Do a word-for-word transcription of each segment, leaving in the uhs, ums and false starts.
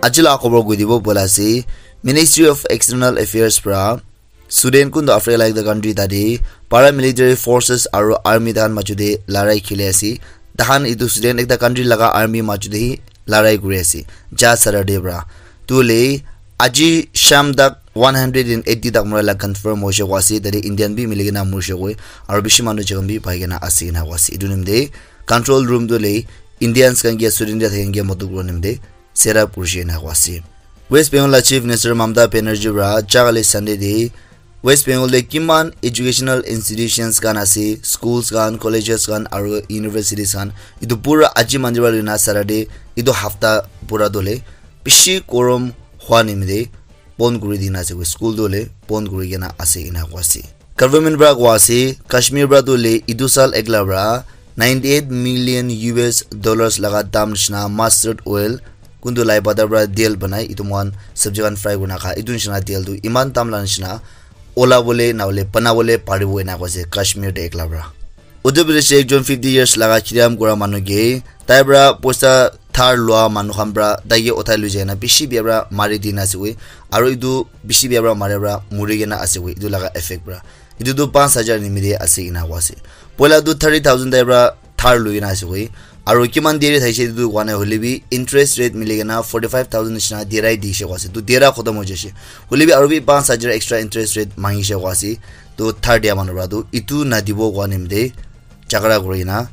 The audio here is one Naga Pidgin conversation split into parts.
Aji la khobor koi dibo bola ase, Ministry of External Affairs pra student kuntu Africa la ekta country tate paramilitary forces aro army tahan majo te larai khili ase. Tahan etu student ekta country laga army majo te hi larai kuri ase ja Saturday pra. Tu le aji sham tak one hundred and eighty tak mura la confirm hoise koa ase. Tate Indian bi mili kena morise koi aro bishi manu jagam bi pai kena ase kena koa ase. Etu nimite control room tu le Indians khan ke student khan ke matu kura nimite set up kurishe ena koa ase. West Bengal la Chief Minister Mamata Banerjee pra jakali Sunday te West Bengal te kiman educational institutions khan ase, schools khan, colleges khan aro universities khan, etu pura aji mandi pra loina Saturday etu hafta pura tu le bishi korom hua nimite bon kuri dina ase koi, school tu le bon kuri kena ase ena koa ase. Government pra koa ase, Kashmir pra tu le etu sal ekla pra ninety eight million U S dollars laga dam nishina mustard oil kuntu lai pata pra tel banai, etu moikhan sabji khan fry kurina kha, etu nishina tel tu eman dam la nishina ola bole na hole bana bole paribo ena koa ase Kashmir te ekla pra. Uttar Pradesh te ekjon fifty years laga kiram kura manu ke tai pra poisa dhar lua manu khan pra tai ke uthai lui jai na bishi bia pra mari dina ase koi, aro etu bishi bia pra mari pra muri kena ase koi, etu laga effect pra. Etu tu panch hajar nimite ase ena koa ase. Poila tu thirty thousand tai pra dhar lui kena ase koi, aro kiman deri thaise etu tu koa nai, hoile bi interest rate mili kena forty five thousand nishina derai dishe koa ase. Tu dera khotom hoi jaise, hoile bi aro bi panch hajar extra interest rate mangishe koa ase. Tu dhar dia manu pra tu etu nadibo koa nimite jhagara kuri kena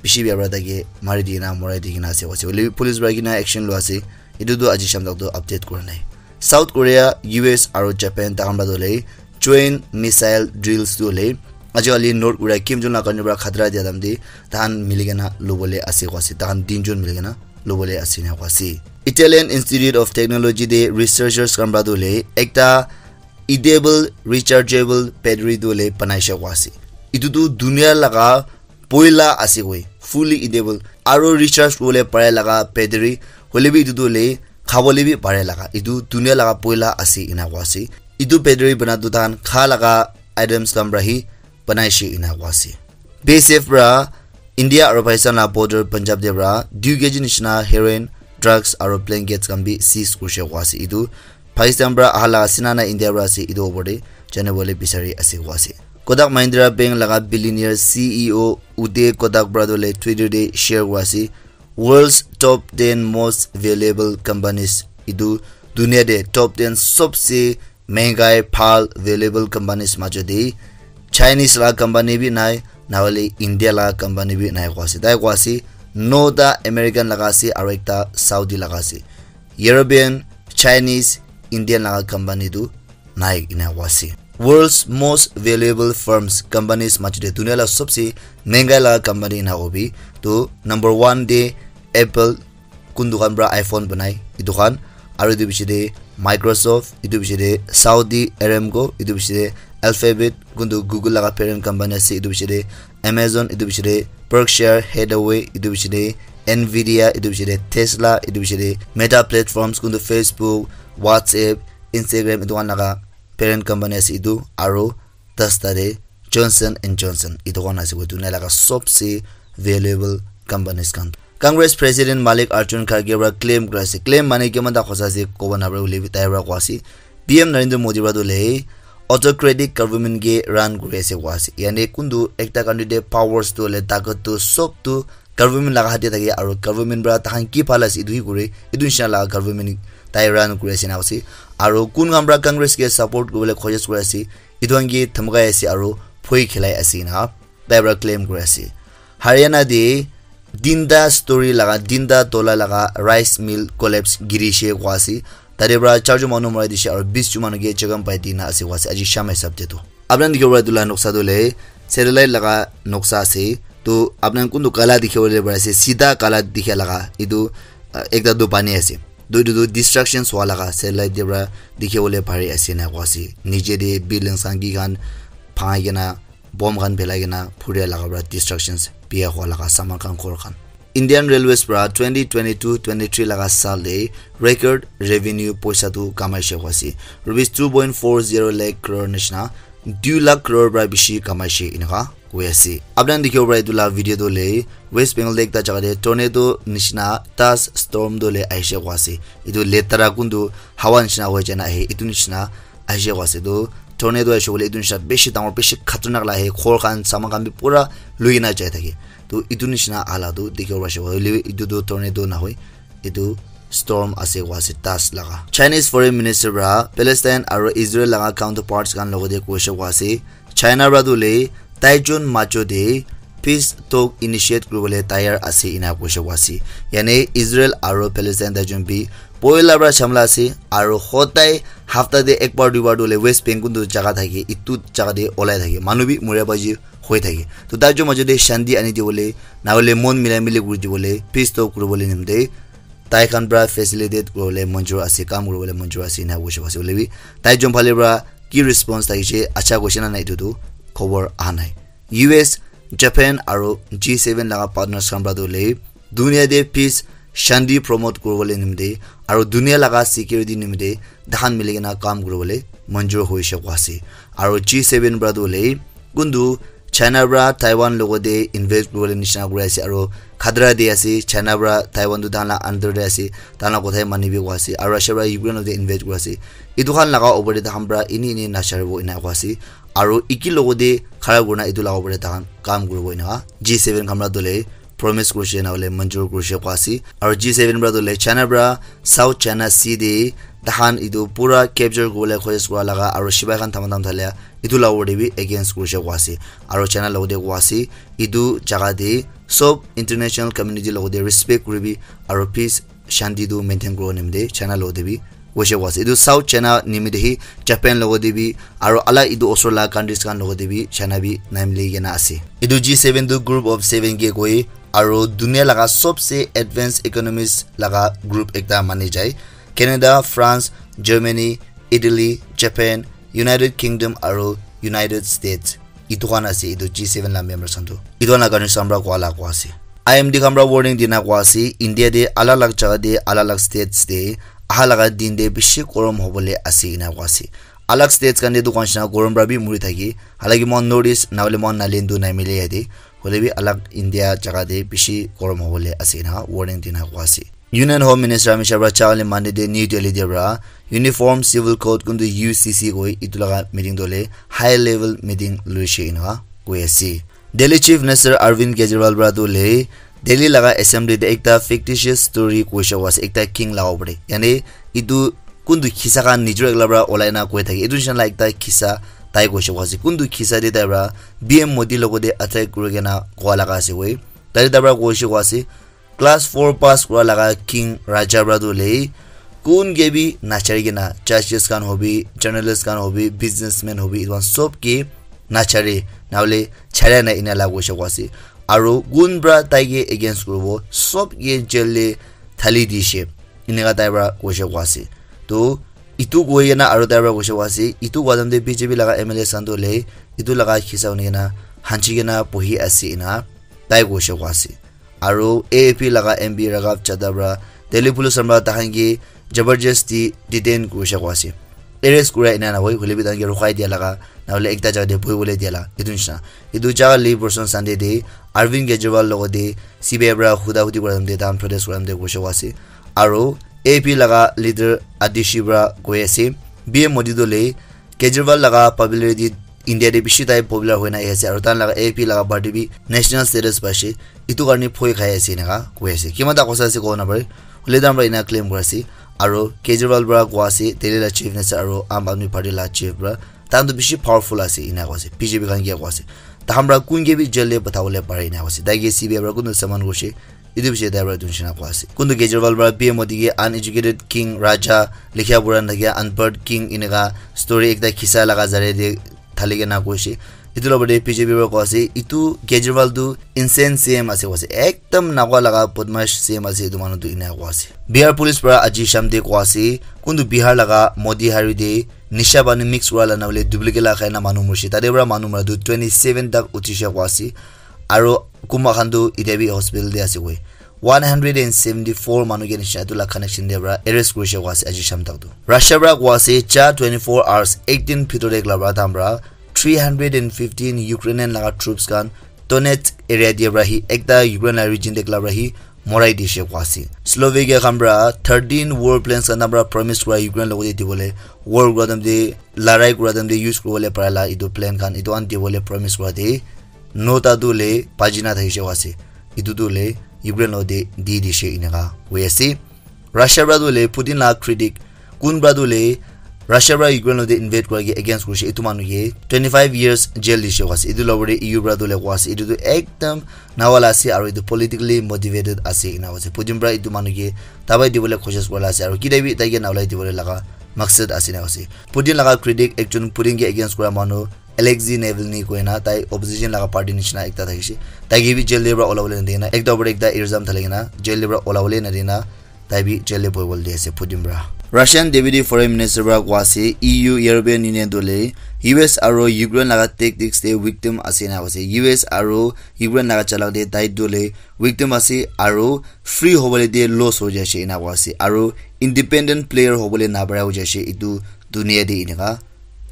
bishi bia pra tai ke mari di kena morai di kena ase koa ase. Hoile bi police pra kena action lua ase. Etu tu aji sham tak tu update kura nai. South Korea, U S aro Japan tahan pra tu le joint missile drills tu le aji kali North Korea Kim Jong la country pra khatra dia dam te tahan mili kena lobole ase koa ase. Tahan tinjon mili kena lobole ase ena koa ase. Italian Institute of Technology te researchers khan pra tu le ekta edible rechargeable battery tu le banaishe koa ase. Etu tu dunia laga poila ase koi, fully edible aro recharge kuribole pare laga battery, hoile bi etu tu le khabole bi pare laga, etu dunia laga poila ase ena koa ase. Etu battery bana tu tahan kha laga items khan pra hi banaishe ena koa ase. B S F pra India aro Pakistan la border Punjab te pra two K G nishina heroin, drugs aro blankets khan bi seize kurishe koa ase. Etu Pakistan pra aha laga ase na na India pra ase, etu opor te janibole bisari ase koa ase. Kotak Mahindra Bank laga billionaire C E O Uday Kotak pra tu le Twitter te share kura ase, world's top ten most valuable companies. Etu dunia te top ten sobse mengai bhal valuable companies majo te Chinese laga company bi nai, na hole India laga company bi nai koa ase. Tai koa ase, no ta American laga ase aro ekta Saudi laga ase. European, Chinese, Indian laga company tu nai ena koa ase. World's most valuable firms, companies majo te dunia la sobse mengai laga company ena hobi. Tu number one te Apple, kuntu khan pra iPhone banai, etu khan, aro etu piche te Microsoft, etu piche te Saudi Aramco, etu piche te Alphabet, kuntu Google laga parent company ase, etu piche te Amazon, etu piche te Berkshire Hathaway, etu piche te Nvidia, etu piche te Tesla, etu piche te Meta Platforms, kuntu Facebook, WhatsApp, Instagram, etu khan laga parent company ase etu, aro dasta te Johnson and Johnson, etu khan ase koi dunia laga sobse valuable companies khan. Congress President Mallikarjun Kharge pra claim kura ase. Claim mane kiman ta hosa ase kobo na pare, hoile bi tai pra koa ase. P M Narendra Modi pra tu le autocratic government ke run kuri ase koa ase. Yani kuntu ekta country te powers tu le takat tu sob tu government laga hath te thake, aro government pra tahan ki bhal ase etu hi kure, etu nishina laga government tai run kuri ase na ase. Aro kun khan pra Congress ke support kuribole khojis kuri ase, etu khan ke dhamkai ase aro bhoi khilai ase na tai pra claim kuri ase. Haryana te tinta story laga, tinta tola laga rice mill collapse girishe koa ase. Tate pra charjon manu marai dishe aro bisjon manu ke jokhom pai dina ase koa ase. Aji sham hisab te tu. Apni khan dikhibo para etu la noksa tu hoile satellite laga noksa ase. Tu apni khan kuntu kala dikhibo le pari ase, sida kala dikha laga etu, ah, ekta tu pani ase. Tu etu tu destructions hua laga satellite te para dikhibo le pari ase ena koa ase. Niche te buildings khan ki khan bhangai kena, bomb khan phelai kena phuria laga para destructions biya hua laga saman khan ghor khan. Indian Railways para twenty twenty-two twenty-three laga saal te record revenue poisa tu kamaishe koa ase. Rupees two point four zero lakh crore nishina dui lakh crore para bishi kamaishe enika koi ase. Apni khan dikhibo para etu la video tu hoile West Bengal te ekta jaga te tornado nishina dust storm tu hoile ahishe koi ase. Etu letara kuntu hawa nishina hoi jana ahe, etu nishina ahishe koi ase. Tu tornado ahishe koile etu nishina bishi dangor, bishi khatarnak la ahe, ghor khan, saman khan bi pura lui kena jai thake. Tu etu nishina ala tu dikhibo para hoile bi etu tu tornado nahoi, etu storm ase koi ase dust laga. Chinese Foreign Minister para Palestine aro Israel laga counterparts khan logote koishe koi ase, China para tu hoile taijon majo te peace talk initiate kuribole tayar ase ena koishe koi ase. Yane Israel aro Palestine taijon bi poila para jhamla ase, aro hodai hafta te ekbar duibar tu hoile West Bank kuntu jaga thake, etu jaga te olai thake, manu bi muria baji hoi thake. To taijon majo te shanti ani dibole, na hoile mon milai mili kuri dibole, peace talk kuribole nimite tai khan para facilitate kuribole manjur ase, kam kuribole manjur ase ena koishe koi ase. Hoile bi taijon phale para ki response thakishe, acha koishe na nai, etu tu khobor aha nai. U S, Japan aro G seven laga partners khan para tu hoile dunia te peace, shanti promote kuribole nimite aro dunia laga security nimite tahan mili kena kam kuribole manjur hoishe koi ase. Aro G seven para tu hoile kuntu China para Taiwan logote invade kuribole nishina kuri ase aro khatra de ase, China para Taiwan tu tahan la under de ase, tahan la kothai mani bi koi ase, aro Russia para Ukraine logote invade kuri ase. Etu khan laga opor te tahan para ini ini nacharibo ena koi ase. Aro eki logote khara kurina etu laga opor te tahan kam kuribo ena G seven khan para tu hoile promise kurishe na hoile manjur kurishe koi ase. Aro G seven para tu hoile China para South China Sea te tahan etu pura capture kuribole kosis kura laga aro sipai khan thama tham thalia etu la opor te bi against kurishe koi ase. Aro China logote koi ase etu jaga te sob international community logote respect kuribi aro peace shanti tu maintain kuribo nimite China logote bi koishe koi ase. Etu South China nimite hi Japan logote bi aro alak etu osor la countries khan logote bi China bi nai mili kena ase. Etu G seven tu group of seven ke koi aro dunia laga sobse advanced economies laga group ekta mani jai. Canada, France, Germany, Italy, Japan, United Kingdom aro United States. Etu khan ase etu G seven la members khan tu. Etu khan la countries khan para koi la koi ase. I M D khan para warning dina koi ase, India te alak alak jaga te, alak alak states te aha laga din te bishi gorom hobole ase ena koi ase. Alak states khan te tu koishe na gorom para bi muri thake. Halaki moikhan North East na hoile moikhan Nagaland tu nai mile yate. Hoile bi alak India jaga te bishi gorom hobole ase ena warning dina koi ase. Union Home Minister Amit Shah para jale Monday te New Delhi te para Uniform Civil Code kuntu U C C koi etu laga meeting tu hoile high level meeting loishe ena koi ase. Delhi Chief Minister Arvind Kejriwal para tu hoile Delhi laga assembly te ekta fictitious story koishe koi ase, ekta king laga opor te. Yane etu kuntu khisa khan nijor ekla para olai na koi thake. Etu nishina la ekta khisa tai koishe koi ase. Kuntu khisa te tai para P M Modi logote attack kuri kena koa laga ase koi. Tai tai para koishe koi ase, class four pass kura laga king raja para tu hoile kun ke bi nachari kena, judges khan hobi, journalist khan hobi, businessman hobi, etu khan sob ke nachari, na hoile chara na ena la koishe koi ase. Aro kun para tai ke against kuribo, sob ke jail te thali dishe. Eneka tai para koishe koi ase. To etu koi kena aro tai para koishe koi ase, etu koi time te B J P laga M L A khan tu hoile etu laga khisa huni kena hanchi kena bohi ase ena tai koishe koi ase. Aro A A P laga M P Raghav Chadha para Delhi police khan para tahan ke jabardasti detain kurishe koi ase, arrest kura ena nahoi, hoile bi tahan ke rukhai dia laga, na hoile ekta jaga te bohi bole dia la, etu nishina. Etu jaga lei person Sunday te Arvind Kejriwal logote C B I para huda hudi kura time te tahan protest kura time te koishe koi ase. Aro A A P laga leader Atishi para koi ase, P M Modi tu hoile Kejriwal laga popularity India te bishi tai popular hoina ahi ase, aro tahan laga A A P laga party bi national status paishe, etu karne bhoi khai ase eneka koi ase. Kiman ta kosa ase kobo napare, hoile tahan para ena claim kuri ase. Aro Kejriwal para koi ase, Delhi la chief minister aro Aam Aadmi Party la chief para, tahan tu bishi powerful ase ena koi ase. B J P khan ke koi ase, tahan para kun ke bi jail te patha bole pare ena koi ase. Tai ke C B I para kuntu summon kurishe, etu bishi tai para etu nishina koi ase. Kuntu Kejriwal para P M Modi ke uneducated king, raja, likha pura nathakia unpad king eneka story ekta khisa laga zaria te thali kena koishe. Etu la opor te B J P para koi ase, etu Kejriwal tu insane C M ase koi ase, ekdam nakwa laga badmash C M ase etu manu tu ena koi ase. Bihar police para aji sham te koi ase, kuntu Bihar laga Motihari te nisha pani mix kura la na hoile duplicate la khai na manu murishe, tate para manu mara tu twenty seven tak uthi she koi ase. Aro kunba khan tu itya bi hospital te ase koi. One hundred and seventy four manu ke nishina etu la connection te para arrest kurishe koi ase aji sham tak tu. Russia para koi ase ja twenty four hours, ek din bhitor te ekla para tahan para three hundred and fifteen Ukrainian laga troops khan Donetsk area te para hi ekta Ukraine la region te ekla para hi morai dishe koa ase. Slovakia khan para thirteen war planes khan para promise kura Ukraine logote dibole, war kura time te, larai kura time te use kuribole para la etu plane khan etu khan dibole promise kura te nota tu le baji na thakishe koa ase. Etu tu le Ukraine logote di dishe eneka koi ase. Russia para tu le Putin la critic kun para tu le Russia para Ukraine logote invade kura ke against kurishe etu manu ke twenty five years jail dishe koa ase. Etu logote E U para tu le koa ase etu tu ekdam nawala ase aru etu politically motivated ase ena koa ase. Putin para etu manu ke dabai dibole koshish kura la ase aru kita bi tai ke nawalai dibole laga maksad ase ena koa ase. Putin laga critic ekjon Putin ke against kura manu Alexei Navalny koina tai opposition laga party nishina ekta thakishe. Tai ke bi jail te para olabole nadina ekta opor ekta ilzam thali kena jail te para olabole nadina tai bi jail te bohibole di ase Putin para. Russian Deputy Foreign Minister para koa ase E U European Union tu le U S aru Ukraine laga tactics te victim ase ena koa ase. U S aru Ukraine laga chalak te tai tu le victim ase aru free hobole te loss ho jai ase ena koa ase aru independent player hobole napara ho jai ase etu dunia te eneka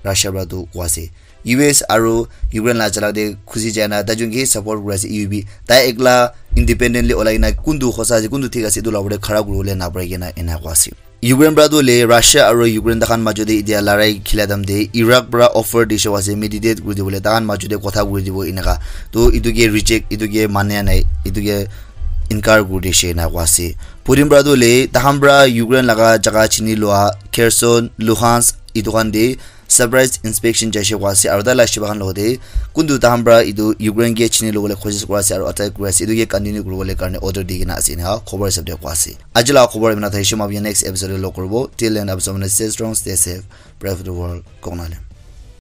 Russia para tu koa ase. U S aru Ukraine la chalak te khusi jai na tai jun ke support kuri ase E U bi tai ekla independently olai kena kuntu hosa ase kuntu thik ase etu la opor te khara kuribole napari kena ena koa ase. Ukraine para tu le Russia aru Ukraine takhan majo te etia larai khila time te Iraq para offer dishe koa ase mediate kuri dibole takhan majo te kotha kuri dibo eneka. To etu ke reject etu ke mania nai etu ke inkar kuri dishe ena koa ase. Putin para tu le takhan para Ukraine laga jaga chini lua Kherson, Luhansk etu khan te surprise inspection jaise koa ase aru tai la shiba khan logote kuntu takhan para etu Ukraine ke chini lobole koshish kura ase aru attack kuri ase etu ke continue kuribole karne order di kena ase ena khobor hisab te koa ase. Aji la khobor imna thaishe ma next episode te log kuribo till then, stay strong, stay safe, pray for the world, Konale.